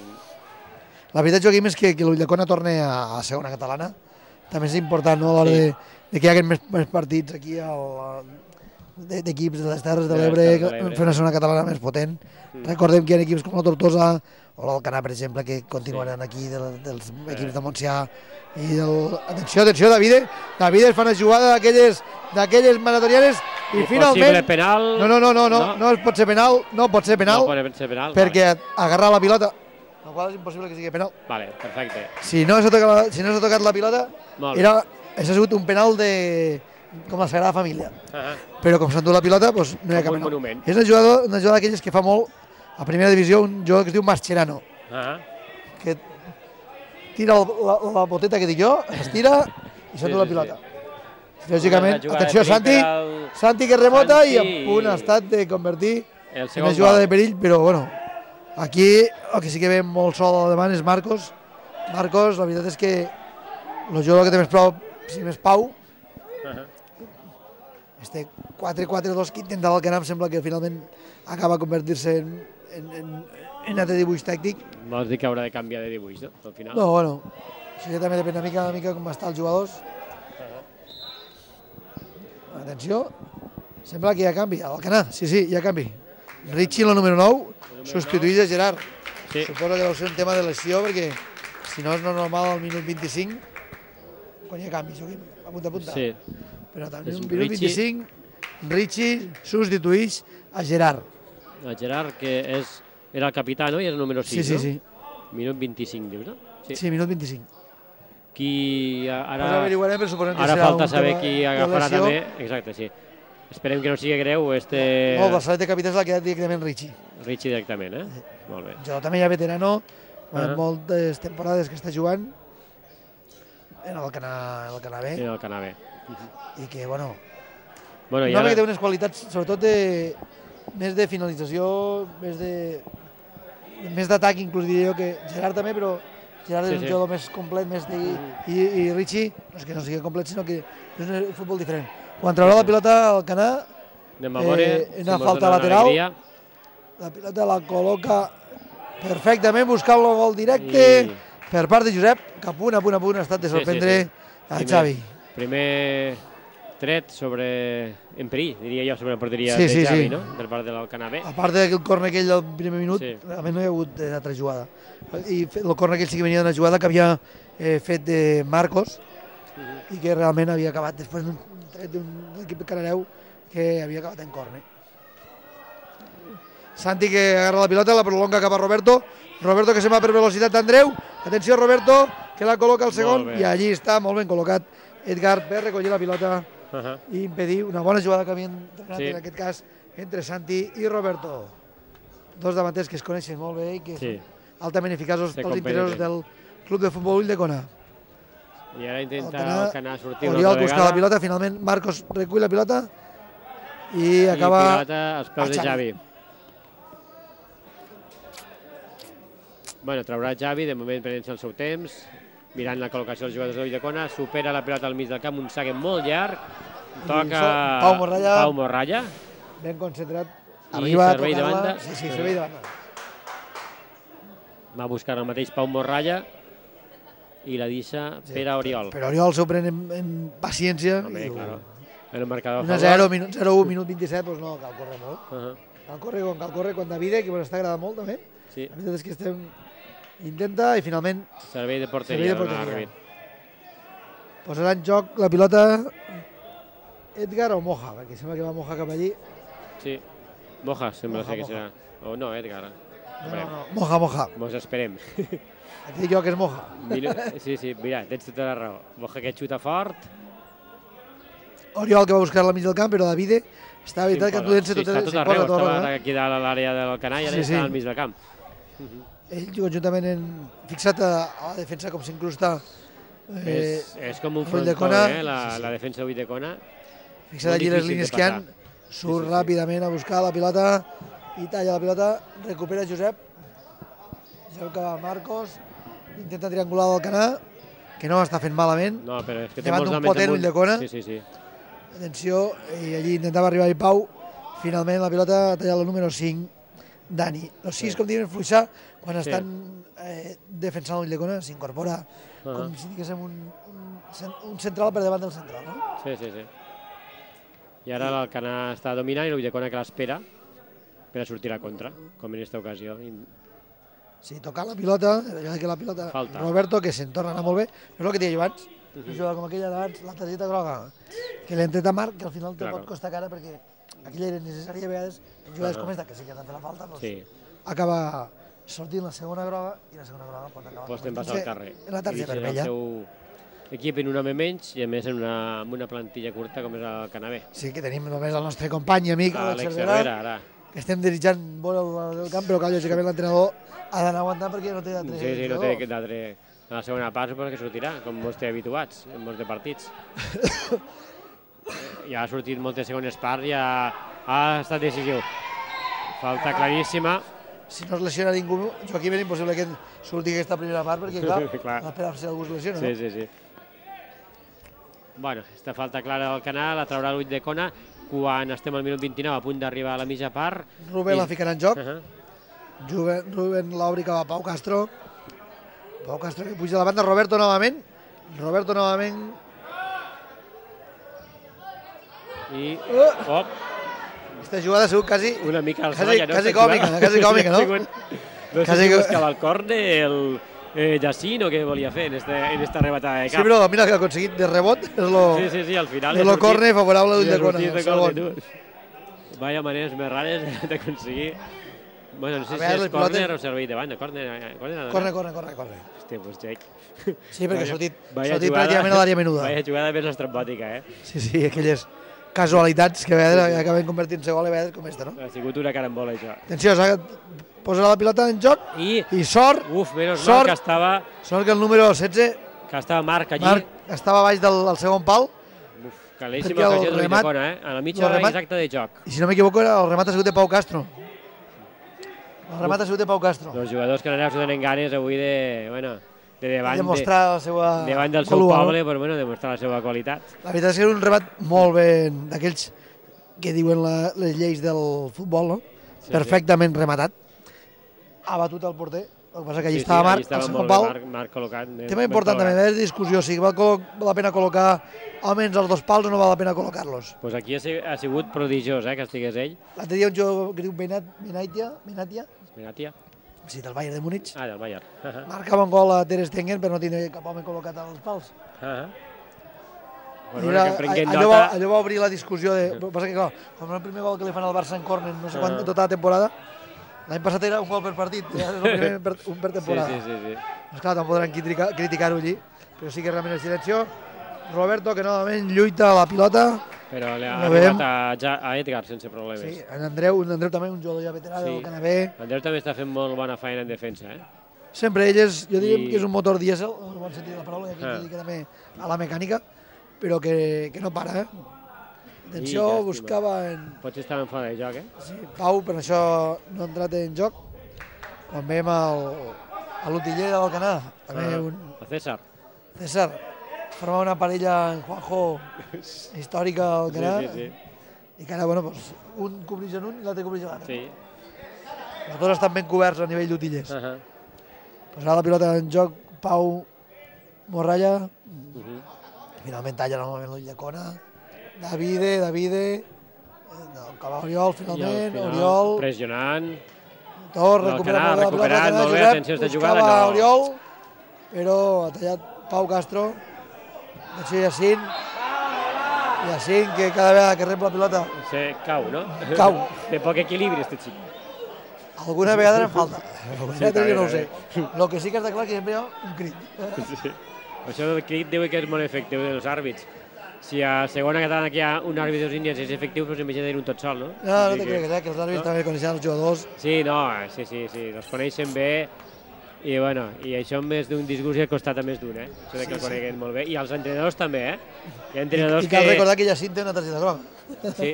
La veritat, Joaquim, és que l'Ulldecona torni a la segona catalana. També és important, no?, a l'hora de que hi hagi més partits aquí d'equips de les Terres de l'Ebre, fer una segona catalana més potent. Recordem que hi ha equips com la Tortosa o l'Alcanar, per exemple, que continuaran aquí, dels equips de Montsià. Atenció, Davide es fa una jugada d'aquelles maratorianes i finalment... Possible penal... No pot ser penal, perquè agarra la pilota, el qual és impossible que sigui penal. Vale, perfecte. Si no s'ha tocat la pilota, ha sigut un penal com la Sagrada Família. Però com s'ha endut la pilota, no hi ha cap penal. És una jugada d'aquelles que fa molt a primera divisió, un jugador que es diu Mascherano, que tira la boteta que dic jo, estira i s'endú la pilota. Lògicament, atenció, Santi que remota i a punt ha estat de convertir en una jugada de perill, però bueno, aquí el que sí que ve molt sol al davant és Marcos. Marcos, la veritat és que el jugador que té més pau, este 4-4-2 que intenta l'Alcanar, sembla que finalment acaba convertir-se en altre dibuix tàctic. Vols dir que haurà de canviar de dibuix, no? Al final. No, bueno, això ja també depèn una mica com estan els jugadors. Atenció, sembla que hi ha canvi. A l'Alcanar, sí, hi ha canvi. Richie, el número 9, substituït a Gerard. Suposo que deu ser un tema de lesió, perquè si no és normal al minut 25, quan hi ha canvi, apunta. Sí. Però també al minut 25, Richie substituïx a Gerard. A Gerard, que era el capità, no? I era el número 6, no? Sí. Minut 25, dius, no? Sí, minut 25. Ara falta saber qui agafarà també. Exacte, sí. Esperem que no sigui greu. No, la salet de capità s'ha quedat directament Richie. Richie directament, Molt bé. Jo també ja veterano, moltes temporades que està jugant en el Canà B. En el Canà B. I que, bueno, que té unes qualitats, sobretot més de finalització, més d'atac, inclús diria jo, que Gerard també, però Gerard és un jugador més complet, i Richie, no és que no sigui complet, sinó que és un futbol diferent. Quan traurà la pilota al Canà, una falta lateral, la pilota la col·loca perfectament, buscant el gol directe per part de Josep, que a punt ha estat de sorprendre a Xavi. Primer tret en perill, diria jo, sobre la porteria de Xavi, no? Per part de l'Alcanar B. A part del córner aquell del primer minut, realment no hi ha hagut altra jugada. I el córner aquell sí que venia d'una jugada que havia fet de Marcos i que realment havia acabat després d'un tret d'un equip canareu que havia acabat en córner. Santi que agarra la pilota, la prolonga cap a Roberto. Roberto que se'n va per velocitat d'Andreu. Atenció, Roberto, que la col·loca al segon i allí està molt ben col·locat Edgar per recollir la pilota i impedir una bona jugada que havien entrenat en aquest cas entre Santi i Roberto. Dos davanters que es coneixen molt bé i que són altament eficaços pels interessos del Club de Futbol Ulldecona. I ara intenta Alcanar sortir una altra vegada. Oriol busca la pilota, finalment Marcos recull la pilota i acaba... I pilota als peus de Xavi. Bueno, traurà Xavi, de moment prenent-se el seu temps, mirant la col·locació dels jugadors de l'Ulldecona, supera la pilota al mig del camp, un saque molt llarg, toca Pau Morralla. Ben concentrat, arriba a tocar-la. Sí, servei de banda. Va buscar el mateix Pau Morralla i la deixa per a Oriol. Però Oriol s'ho pren en paciència En el marcador 1-0, 0-1, minut 27, doncs no, cal córrer molt. Cal córrer quan Davide, que m'està agradant molt també. La veritat és que estem... Intenta i finalment... Servei de porteria. Posarà en joc la pilota Edgar o Moja, perquè sembla que va Moja cap allí. Sí, Moja sembla ser que serà. O no, Edgar. No, Moja. Mos esperem. Et dic jo que és Moja. Sí, mira, tens tota la raó. Moja que xuta fort. Oriol que va buscar la mig del camp, però Davide està veritat que podent ser tot arreu. Estava aquí dalt a l'àrea del Canà i ara està al mig del camp. Ell conjuntament fixat a la defensa com s'incrusta és com un frontó, la defensa d'Ulldecona. Fixat allí les línies que han, surt ràpidament a buscar la pilota i talla la pilota, recupera Josep que va Marcos, intenta triangular del Canà, que no està fent malament, davant d'un potent Ulldecona. Atenció, i allí intentava arribar-hi Pau, finalment la pilota talla el número 5, Dani. Los 6, com diuen, fluixar, quan estan defensant Ulldecona, s'incorpora com si diguéssim un central per davant del central, no? Sí. I ara l'Alcanar està dominant i l'Ulldecona que l'espera per a sortir a contra, com en aquesta ocasió. Sí, tocar la pilota, Roberto, que se'n torna a anar molt bé, és el que deia jo abans, una jugada com aquella d'abans, la targeta groga, que l'hem tret a Marc, que al final te pot costar cara perquè aquella era necessària a vegades, en jugades com aquesta, que sí que ha de fer la falta, acaba sortint la segona groga i la segona groga pot acabar en la targeta vermella. Equip en un home menys i a més amb una plantilla curta com és el Canabé. Sí, que tenim només el nostre company i amic, Àlex Cervera, que estem desitjant molt el camp, però que lògicament l'entrenador ha d'anar aguantant perquè no té d'altre. Sí, no té d'altre. A la segona part suposo que sortirà, com molts té habituats en molts de partits. Ja ha sortit moltes segones parts i ha estat decisiu. Falta claríssima. Si no es lesiona ningú, Joaquim, és impossible que surti aquesta primera part perquè, clar, l'espera si algú es lesiona, no? Sí. Bueno, aquesta falta clara del Canà, la traurà l'Ulldecona quan estem al minut 29 a punt d'arribar a la mitja part. Rubén la ficarà en joc. Rubén l'obri cap a Pau Castro. Pau Castro que puja a la banda, Roberto novament. I... Aquesta jugada ha sigut quasi... Una mica al Salla, no? Quasi còmica, no? No sé si buscava el córner, el Jacint o què volia fer en esta rebatada de cap. Sí, però mira que ha aconseguit de rebot. Sí, al final... És el córner favorable d'Ulldecona. Vaya maneres més rares d'aconseguir... Bueno, no sé si és córner o servei de banda. Córner. Hòstia, doncs Jake. Sí, perquè ha sortit pràcticament a l'àrea menuda. Vaya jugada més estrambòtica, Sí, aquelles casualitats que acaben convertint-se gol a vegades com aquesta, no? Ha sigut una carambola, això. Atenció, posarà la pilota en joc i sort. Menys mal que estava... Sort que el número 16... Que estava Marc allí. Marc estava baix del segon pal. Claríssima ocasió de l'Ulldecona, a la mitja hora exacta de joc. I si no m'equivoco, el remat ha sigut de Pau Castro. Els jugadors cananeus tenen ganes avui de demostrar la seva... Davant del seu poble, però demostrar la seva qualitat. La veritat és que és un remat molt ben d'aquells que diuen les lleis del futbol, no? Perfectament rematat. Ha batut el porter. El que passa que allí estava Marc, al segon pal. Tema important també, és discussió, si val la pena col·locar almenys els dos pals o no val la pena col·locar-los. Doncs aquí ha sigut prodigiós, que estigués ell. L'altre dia un jugador que diu Benatia. Sí, del Bayern de Múnich. Del Bayern. Marcava un gol a Ter Stegen, però no tenia cap home col·locat als pals. Allò va obrir la discussió. El que passa que, clar, com el primer gol que li fan al Barça en córner, no sé quant, tota la temporada, l'any passat era un gol per partit, és el primer un per temporada. Sí. Doncs clar, no podran criticar-ho allí, però sí que realment el silencio. Roberto, que novament lluita a la pilota. Però li ha arribat a Edgar sense problemes. Sí, en Andreu també, un jugador ja veterà del Canabé. Andreu també està fent molt bona feina en defensa. Sempre ell jo diria que és un motor dièsel, en el bon sentit de la paraula, que es dedica també a la mecànica, però que no para. Atenció, buscava... Potser estaven fora de joc, Sí, Pau, per això no ha entrat en joc. Quan veiem a l'utiller del Canà, també el César. Formar una parella en Juanjo històrica al Canà. I que ara, un cobreix en un i l'altre cobreix en l'altre. Els dos estan ben coberts a nivell d'utillers. Posarà la pilota en joc Pau Morralla. Finalment talla normalment l'Ulldecona. Davide, acaba Oriol finalment, Oriol... Pressionant. Tot, recuperat, molt bé, atenció a esta jugada, no. Oriol, però ha tallat Pau Castro, atenció Jacint, que cada vegada que rep la pilota... Cau, no? Cau. Té poc equilibri, este xic. Alguna vegada en falta, no ho sé. El que sí que està clar que sempre hi ha un crit. Això del crit diu que és molt efectiu dels àrbits. Si a segona catalana aquí hi ha un àrbit dels índies és efectiu, doncs imagina un tot sol, no? No te crec, que els àrbits també coneixen els jugadors. Sí, els coneixen bé i això més d'un disgust i ha costat a més d'un, això que el coneguen molt bé. I els entrenadors també, Hi ha entrenadors que... I cal recordar que Jacint té una targeta groga. Sí,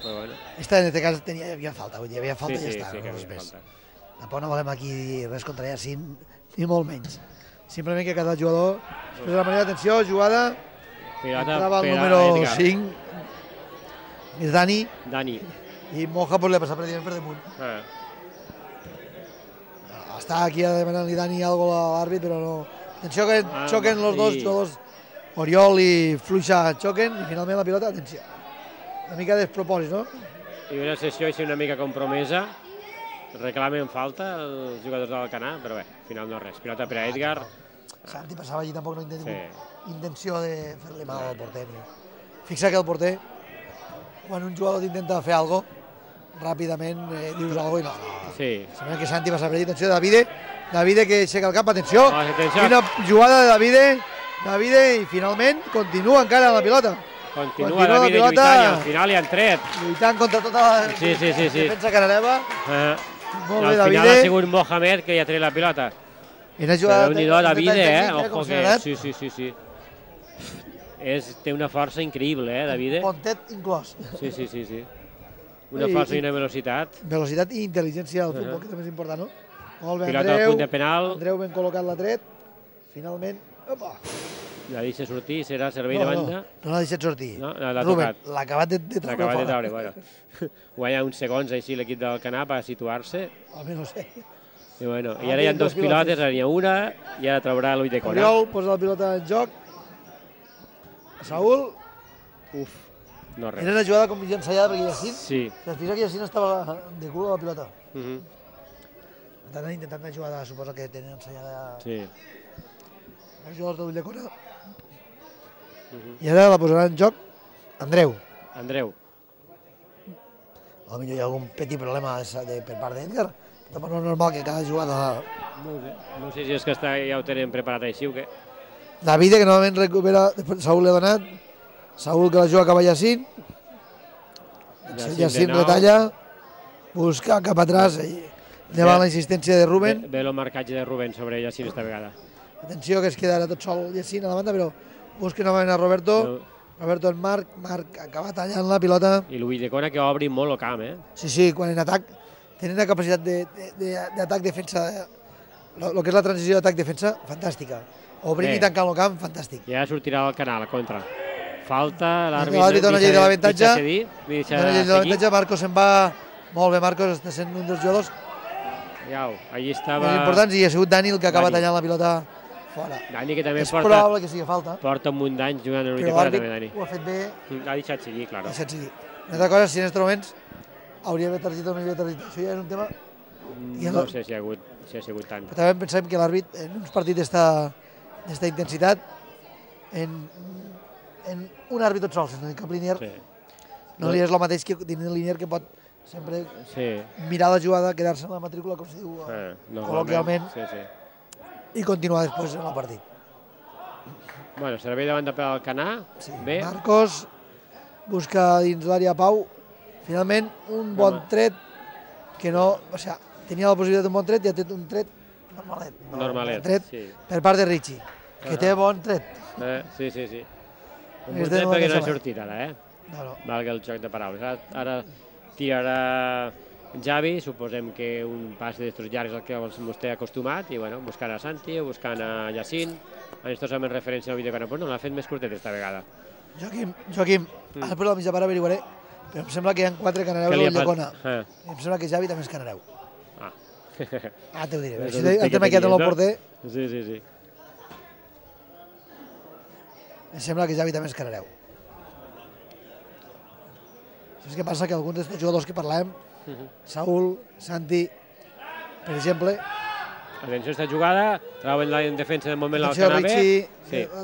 però bueno. Esta en aquest cas hi havia falta, vull dir, hi havia falta i ja està. Sí, que havia falta. Tampoc no volem aquí dir res contra Jacint, ni molt menys. Simplement que cada jugador... Després de la manera d'atenció, jugada... Entrava el número 5, és Dani, i Moja li ha passat pràcticament per damunt. Està aquí demanant-li Dani alguna cosa a l'àrbit, però no. Atenció que xoquen els dos jugadors, Oriol i Fluixa xoquen, i finalment la pilota, atenció. Una mica despropòsit, no? I una sessió així una mica compromesa, reclamen falta els jugadors del Canà, però bé, al final no res. Pilota per a Edgar. Santi passava allí, tampoc no intenció de fer-li mal al porter. Fixa que el porter, quan un jugador intenta fer alguna cosa, ràpidament dius alguna cosa i no. Sembla que Santi passa per allí. Atenció de Davide que aixeca el cap, atenció. Quina jugada de Davide i finalment continua encara la pilota. Continua Davide lluitant i al final hi han tret. Lluitant contra tota la defensa canareva. Molt bé, Davide. Al final ha sigut Mohamed que ja ha tret la pilota. Déu-n'hi-do, Davide, ojo que... Sí. Té una força increïble, Davide. Pontet inclòs. Sí. Una força i una velocitat. Velocitat i intel·ligència al futbol, que també és important, no? Molt bé, Pilota al punt de penal. Andreu ben col·locat l'ha tret. Finalment, opa. La deixa sortir, serà servei de banda. No l'ha deixat sortir. Ruben, l'ha acabat de treure fora. L'ha acabat de treure, Guanya uns segons així l'equip del Canà per situar-se. Home, no sé. I ara hi ha dos pilotes, ara n'hi ha una, i ara traurà l'ull de Cora. Oriol posa la pilota en joc. Saúl. No res. Era una jugada com ensaiada perquè Jacint. Sí. Després que Jacint estava de cul a la pilota. Intentant una jugada, suposo que tenen ensaiada... Sí. Els jugadors de l'ull de Cora. I ara la posarà en joc Andreu. Potser hi ha algun petit problema per part d'Edgar. Tampoc no és normal que cada jugada... No sé si és que ja ho tenen preparat així o què. Davide, que novament recupera, Saúl l'ha donat. Saúl que la juga cap a Jacint. Jacint retalla. Busca cap atrás. Lleva la insistència de Ruben. Ve el marcatge de Ruben sobre Jacint esta vegada. Atenció que es quedarà tot sol Jacint a la banda, però busca novament a Roberto. Roberto en Marc acaba tallant la pilota. I l'ull de Cora que obri molt el camp, Sí, quan en atac tenen una capacitat d'atac-defensa, el que és la transició d'atac-defensa, fantàstica. Obrim i tancant el camp, fantàstic. Ja sortirà al canal, contra. Falta, l'àrbit dona llei de l'avantatge. Dona llei de l'avantatge, Marcos se'n va... Molt bé, Marcos, està sent un dels jugadors. Allí estava... És important, i ha sigut Dani el que acaba tallant la pilota fora. Dani que també és probable que sigui falta. Porta un munt d'anys jugant en l'ull de Cora, també, Dani. Ho ha fet bé. Ha deixat seguir, clar. Ha deixat seguir. Una altra cosa, si en aquests moments hauria d'haver targeta o no hi havia targeta. Això ja és un tema... No sé si ha sigut tant. Però també pensem que l'àrbit, en uns partits d'esta intensitat, en un àrbit tot sol, sense cap línier, no li és el mateix que tenir un línier que pot sempre mirar la jugada, quedar-se en la matrícula, com se diu col·loquialment, i continuar després en el partit. Bueno, servei de banda per al Canà. Marcos busca dins l'àrea Pau. Finalment, un bon tret que no... O sigui, tenia la possibilitat d'un bon tret i ha tret un tret normalet. Per part de Richie, que té bon tret. Sí. Un bon tret perquè no ha sortit ara, Valga el joc de paraules. Ara tirarà Javi, suposem que un pas d'estos llargs al que vostè ha acostumat, i buscant a Santi o buscant a Jacint. Estos amb referència al vídeo que no l'ha fet més curtet esta vegada. Joaquim, després de la mitja part averiguaré, però em sembla que hi ha 4 canareus al Llacona. Em sembla que Javi també és canareu. T'ho diré. El tema que ja té el porter... Sí. Em sembla que Javi també és canareu. Saps què passa? Que alguns d'aquests jugadors que parlàvem, Saúl, Santi, per exemple... Atenció a aquesta jugada, trauen la defensa de moment l'Alcanave. Richie,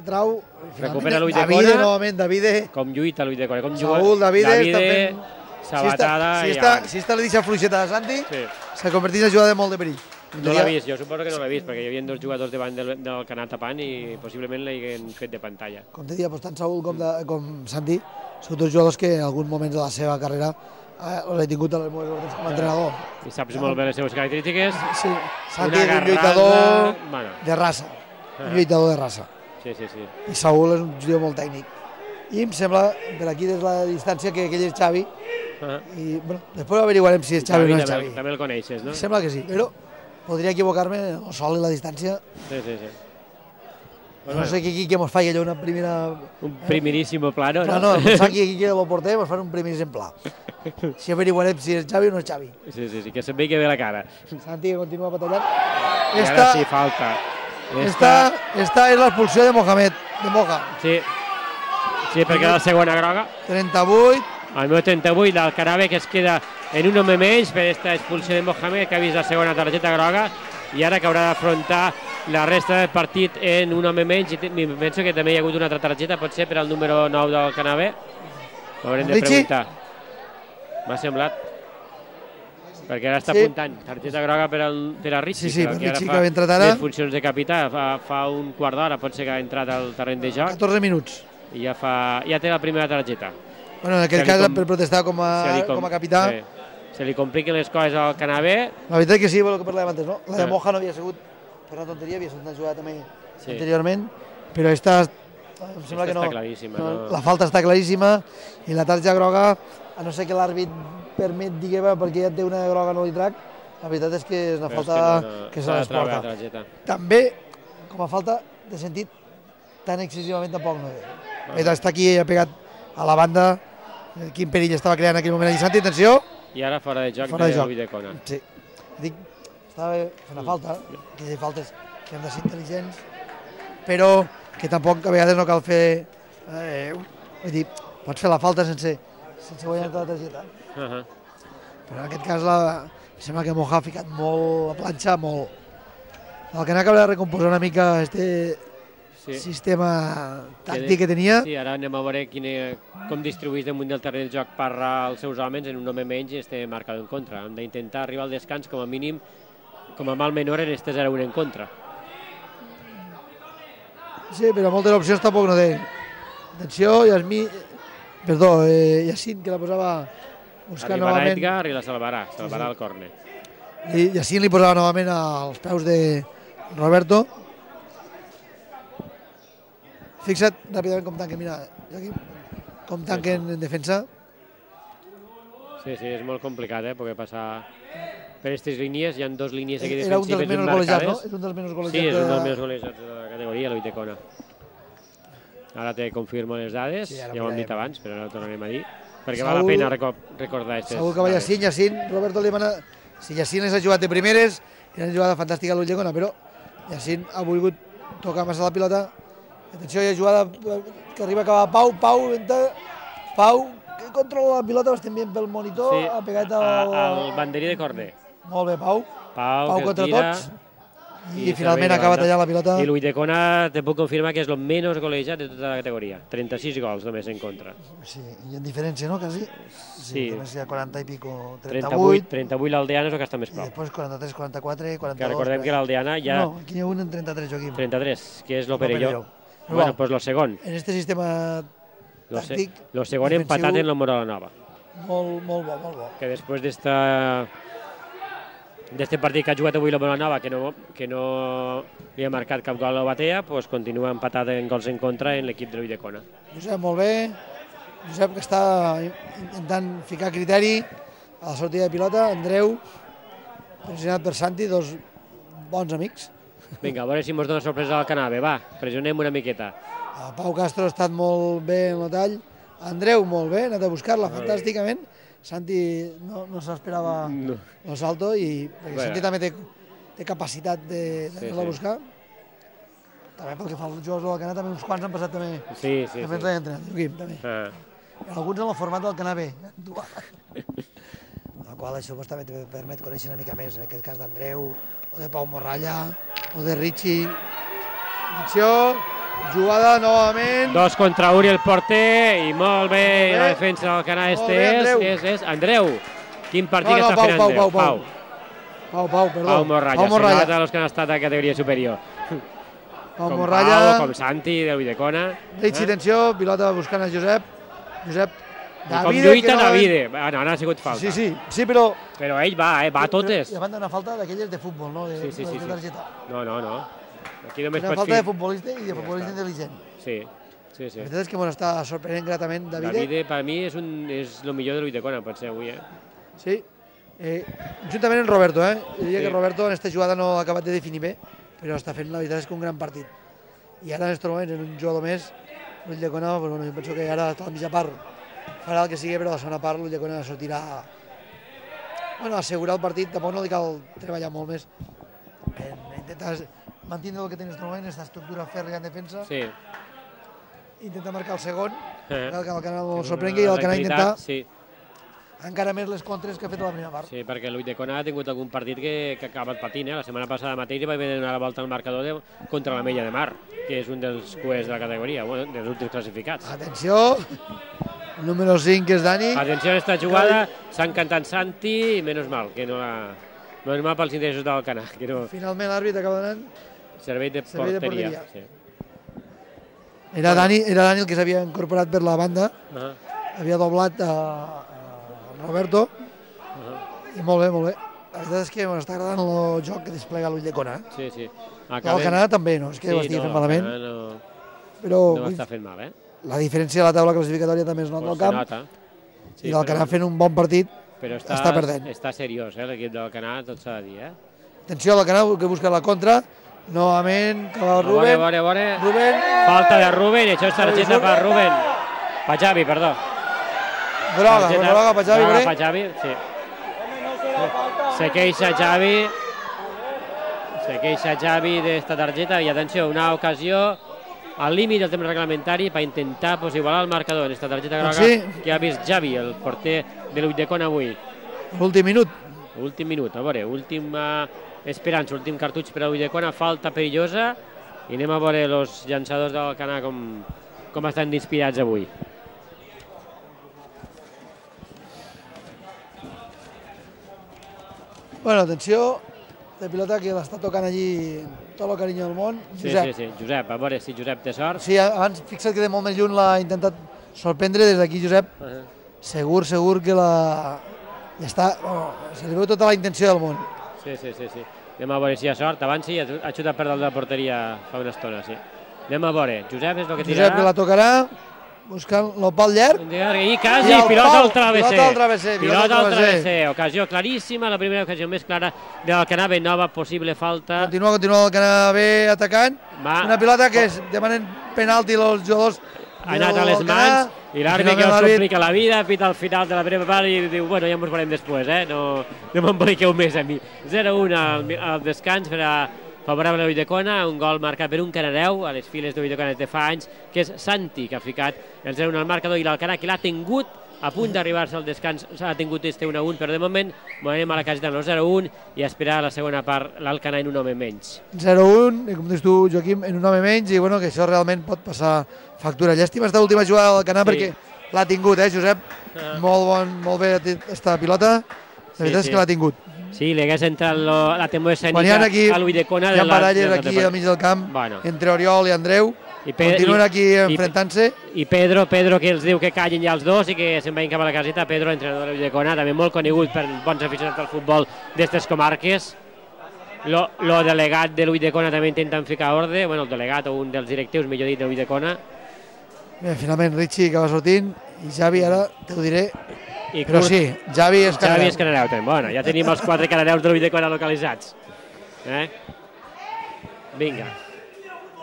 trau... Recupera l'Ull de Cona. Davide, novament, Davide. Com lluita l'Ull de Cona. Saúl, Davide, sabatada. Si esta li deixa fluixeta a Santi, se converteix en jugada de molt de perill. No l'ha vist, jo suposo que no l'ha vist, perquè hi havia dos jugadors davant del Canà tapant i possiblement l'haguien fet de pantalla. Com te dia, tant Saúl com Santi són dos jugadors que en alguns moments de la seva carrera els he tingut a les meves ordres com a entrenador. I saps molt bé les seves característiques. Sí, Santi és un lluitador de raça, un lluitador de raça. Sí. I Saúl és un jugador molt tècnic. I em sembla, per aquí des de la distància, que aquell és Xavi. I després averiguarem si és Xavi o no és Xavi. També el coneixes, no? Em sembla que sí, però podria equivocar-me el sol i la distància. Sí. No sé qui que mos faci allò una primera... Un primiríssimo plano, no? No, pensar que aquí que el porter mos fan un primer exemplar. Si averiguarem si és Xavi o no és Xavi. Sí, que se'n ve que ve la cara. Santi que continua batallant. I ara sí, falta. Esta és l'expulsió de Mohamed, de Moja. Sí, perquè la segona groga. 38. Al meu 38, l'Alcanave que es queda en un home menys per aquesta expulsió de Mohamed, que ha vist la segona targeta groga i ara que haurà d'afrontar la resta del partit en un home menys. I penso que també hi ha hagut una altra targeta, potser per al número 9 del Canave. Haurem de preguntar. M'ha semblat. Perquè ara està apuntant targeta groga per a Richie. Sí, per Richie que ha entrat ara. Les funcions de capità, fa un quart d'hora potser que ha entrat al terreny de joc. 14 minuts. I ja té la primera targeta. Bueno, en aquest cas per protestar com a capità. Se li compliquen les coses al Canave. La veritat que sí, el que parlàvem antes, no? La de Moja no havia sigut per una tonteria, havia sigut una jugada també anteriorment, però esta em sembla que no. La falta està claríssima i la targeta groga, a no ser que l'àrbit permet dir perquè ja té una groga no li trac, la veritat és que és una falta que se l'esporta. També, com a falta de sentit, tan excessivament tampoc no ve. Està aquí, ha pegat a la banda, quin perill estava creant en aquell moment allà Santi, atenció. I ara fora de joc de Ull de Cona. Sí, dic, estava fent una falta, que hi ha faltes que hem de ser intel·ligents, però que tampoc a vegades no cal fer... Vull dir, pots fer la falta sense guanyar-te la targeta. Però en aquest cas sembla que Moja ha ficat molt la planxa, molt. El que n'ha acabat de recomposar una mica sistema tàctic que tenia. Sí, ara anem a veure com distribueix damunt del terreny del joc Parra els seus homes en un home menys i este marcador en contra. Hem d'intentar arribar al descans com a mínim, com a mal menor en este 0-1 en contra. Sí, però moltes opcions tampoc no té. Atenció, Yacine, que la posava buscant novament. Arribarà Edgar i la salvarà el córner. Yacine li posava novament als peus de Roberto. Fixa't ràpidament com tanquen, mira, com tanquen en defensa. Sí, és molt complicat, perquè passar per aquestes línies, hi ha dues línies aquí defensives. Era un dels menys golejats, no? És un dels menys golejats. Sí, és un dels menys golejats de la categoria, l'Ull de Cona. Ara te confirmo les dades, ja ho hem dit abans, però ara ho tornarem a dir, perquè val la pena recordar aquestes. Segur que va Yacine, Roberto li demana... Si Yacine s'ha jugat de primeres, era una jugada fantàstica a l'Ull de Cona, però Yacine ha volgut tocar massa la pilota. Atenció, hi ha jugada que arriba a acabar Pau, que controla la pilota, ho estem veient pel monitor, ha pegat al banderí de córner. Molt bé, Pau contra tots, i finalment ha acabat tallant la pilota. I l'Ull de Cona te puc confirmar que és el menys golejat de tota la categoria, 36 gols només en contra. Sí, i en diferència, no, quasi? Sí. Només hi ha 40 i pico, 38 l'Aldeana és el que està més prop. I després 43, 44, 42... Que recordem que l'Aldeana ja... No, aquí hi ha un en 33, Joaquim. 33, que és l'Operelló. Bueno, pues lo segon. En este sistema tàctic... Lo segon empatat en la Moral Nova. Molt bo. Que després d'este partit que ha jugat avui la Moral Nova, que no li ha marcat cap gol a la Batea, pues continua empatat en gols en contra en l'equip de l'Ull de Cona. Josep, molt bé. Josep, que està intentant ficar criteri a la sortida de pilota. Andreu, pressionat per Santi, dos bons amics. Vinga, a veure si ens dona sorpresa al Canave. Va, pressionem una miqueta. Pau Castro ha estat molt bé en el tall. Andreu, molt bé, ha anat a buscar-la fantàsticament. Santi no s'esperava el salto, perquè Santi també té capacitat d'anar-la a buscar. També pel que fa als jugadors del Canà, també uns quants han passat també. Sí. També. alguns en el format del Canà B, dual. El qual això també permet conèixer una mica més, en aquest cas d'Andreu, o de Pau Morralla, o de Richie. Atenció, jugada novament. 2 contra 1 el porter, i molt bé, la defensa del Canà és Andreu. Quin partit està fent Andreu? Pau, perdó. Pau Morralla, se nota els que han estat a categoria superior. Pau Morralla. Com Santi, de Ulldecona. Richie, atenció, pilota buscant a Josep. Com lluita Davide. Bueno, ara ha sigut falta. Sí, però... Però ell va a totes. I a banda una falta d'aquelles de futbol, no? Sí. No. Aquí només una falta de futbolista i de futbolista intel·ligent. Sí. La veritat és que ens està sorprenent gratament Davide. Davide, per mi, és el millor de l'Ulldecona, pot ser avui, Sí. Juntament amb Roberto, Jo diria que Roberto en aquesta jugada no ha acabat de definir bé, però està fent, la veritat és que un gran partit. I ara en aquests moments, en un jugador més, l'Ulldecona, jo penso que ara a la mitja part farà el que sigui, però a la segona part l'Ulldecona sortirà a assegurar el partit. Tampoc no li cal treballar molt més. Intentar mantenir el que té en aquest moment, aquesta estructura fèrria en defensa. Sí. Intentar marcar el segon, que el Canà no sorprengui, i el Canà intentar encara més les contres que ha fet a la primera part. Sí, perquè l'Ulldecona ha tingut algun partit que ha acabat patint. La setmana passada mateix va haver de donar la volta al marcador contra la Mella de Mar, que és un dels cuers de la categoria, dels últims classificats. Atenció, el número 5, que és Dani. Atenció a aquesta jugada, s'ha encantat Santi, i menys mal, que no la... Menys mal pels interessos del Canà. Finalment l'àrbit acaba donant servei de porteria. Era Dani el que s'havia incorporat per la banda, havia doblat a Roberto, i molt bé. La veritat és que m'està agradant el joc que desplega l'Ulldecona. Sí. El Canà també, no és que ho estigui fent malament. No ho està fent mal, La diferència de la taula classificatòria també es nota al camp, i el Canà fent un bon partit està perdent. Està seriós, l'equip del Canà, tot s'ha de dir. Atenció al Canà, que busca la contra, novament, que va Rubén. Rubén. Falta de Rubén, això és targeta per Rubén. Per Xavi, perdó. Groga per Xavi. Sí. Se queixa Xavi d'esta targeta, i atenció, una ocasió al límit del temps reglamentari per intentar igualar el marcador en aquesta targeta groga que ha vist Xavi, el porter de l'Ulldecona avui. Últim minut, a veure, última esperança, últim cartutx per a l'Ulldecona, falta perillosa, i anem a veure els llançadors del Canà com estan inspirats avui. Bueno, atenció, de pilota que l'està tocant allí tot el carinyo del món. Josep. Sí, Josep, a veure si Josep té sort. Sí, abans fixa't que de molt més lluny l'ha intentat sorprendre des d'aquí, Josep. Segur que ja està, se li veu tota la intenció del món. Sí. Anem a veure si hi ha sort. Abans sí, ha xutat per dalt de la porteria fa una estona, sí. Anem a veure, Josep és el que tirarà. Josep que la tocarà, buscant el pal llarg. I quasi, pilota al travesser. Ocasió claríssima, la primera ocasió més clara del Canà B, nova possible falta. Continua el Canà B atacant. Una pilota que demanen penalti els jugadors. Ha anat a les mans i l'àrbitre que els complica la vida, pita al final de la primera part i diu, bueno, ja ens veurem després, no m'emboliqueu més a mi. 0-1 al descans per a favorable a l'Ulldecona, un gol marcat per un canareu a les files d'Ulldecona des de fa anys, que és Santi, que ha ficat el 0-1 al marcador, i l'Alcanà, que l'ha tingut a punt d'arribar-se al descans, s'ha tingut este 1-1, però de moment anem a la caseta del 0-1 i a esperar la segona part l'Alcanà en un home menys. 0-1, com dius tu, Joaquim, en un home menys, i bueno, que això realment pot passar factura. Llàstima esta última jugada del Canà perquè l'ha tingut, Josep? Molt bé aquesta pilota, la veritat és que l'ha tingut. Sí, li hagués entrat la temor escènica a l'Ulldecona. Hi ha baralles aquí al mig del camp entre Oriol i Andreu. Continuen aquí enfrontant-se. I Pedro, que els diu que callin ja els dos i que se'n vagin cap a la caseta. Pedro, entrenador de l'Ulldecona, també molt conegut per bons aficionats al futbol d'estes comarques. El delegat de l'Ulldecona també intenten ficar ordre, el delegat o un dels directius, millor dit, de l'Ulldecona. Finalment Richie acaba sortint i Xavi, ara t'ho diré. Però sí, Xavi és canareu. Xavi és canareu, bueno, ja tenim els 4 canareus de l'Ulldecona localitzats. Vinga.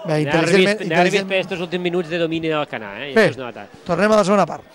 Nervis per estos últims minuts de domini del Canà. Tornem a la segona part.